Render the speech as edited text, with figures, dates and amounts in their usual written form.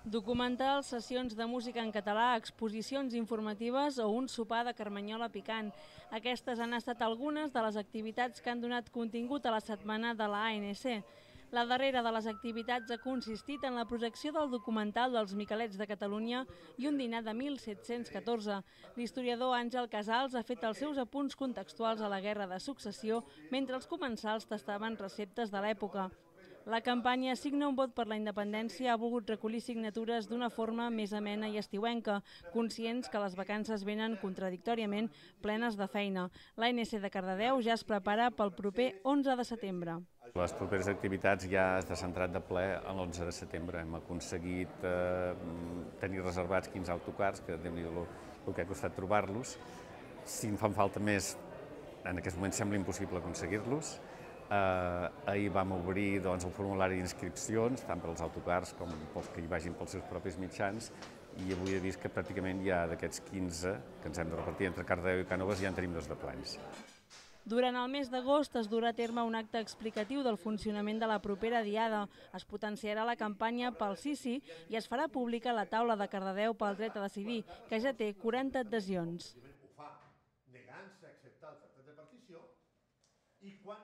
Documentals, sessions de música en català, exposicions informatives o un sopar de carmanyola picant. Aquestes han estat algunes de les activitats que han donat contingut a la setmana de la ANC. La darrera de les activitats ha consistit en la projecció del documental dels Miquelets de Catalunya i un dinar de 1714. L'historiador Àngel Casals ha fet els seus apunts contextuals a la Guerra de Successió mentre els comensals tastaven receptes de l'època. La campanya Signa un vot per la independència ha volgut recollir signatures d'una forma més amena i estiuenca, conscients que les vacances venen contradictòriament plenes de feina. L'ANC de Cardedeu ja es prepara pel proper 11 de setembre. Les properes activitats ja es descentrat de ple l'11 de setembre. Hem aconseguit tenir reservats 15 autocars, que Déu-n'hi-do el que ha costat trobar-los. Si en fan falta més, en aquest moment sembla impossible aconseguir-los. Ahir vam obrir el formulari d'inscripcions, tant per als autocars com pels que hi vagin pels seus propis mitjans, i avui he vist que pràcticament ja d'aquests 15 que ens hem de repartir entre Cardedeu i Cànoves ja en tenim 2 de plans. Durant el mes d'agost es durà a terme un acte explicatiu del funcionament de la propera diada. Es potenciarà la campanya pel sí i es farà pública la taula de Cardedeu pel dret a decidir, que ja té 40 adhesions. Ho fa negant-se a acceptar el tractat de partició i quan